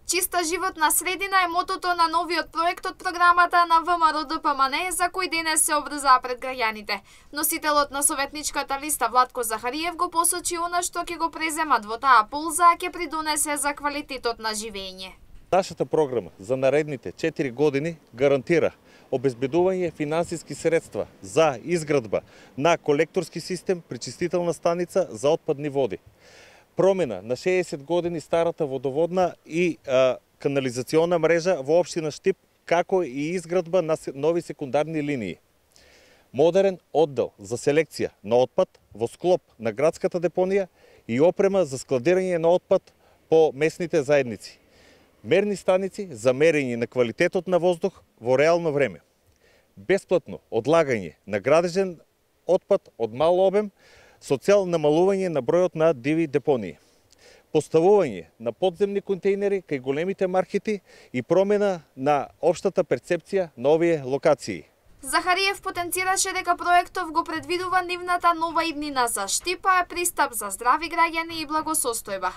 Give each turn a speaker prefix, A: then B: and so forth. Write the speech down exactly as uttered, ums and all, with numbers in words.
A: Чиста животна средина е мотото на новиот проект од програмата на ВМРО-ДПМН за кој денес се обрзаа пред граѓаните. Носителот на советничката листа Владко Захариев го посочи она што ќе го преземат во таа полза, а ќе придонесе за квалитетот на живење.
B: Нашата програма за наредните четири години гарантира обезбедување финансиски средства за изградба на колекторски систем, пречистителна станица за отпадни води. Промена на шеесет години старата водоводна и а, канализациона мрежа во општина Штип, како и изградба на нови секундарни линии. Модерен оддел за селекција на отпад во склоп на градската депонија и опрема за складирање на отпад по местните заедници. Мерни станици за мерење на квалитетот на воздух во реално време. Бесплатно одлагање на градежен отпад од мал обем со цел намалување на бројот на диви депонии. Поставување на подземни контейнери кај големите маркети и промена на општата перцепција на овие локации.
A: Захариев потенцираше дека проектов го предвидува нивната нова иднина за Штип, а е пристап за здрави граѓани и благосостојба.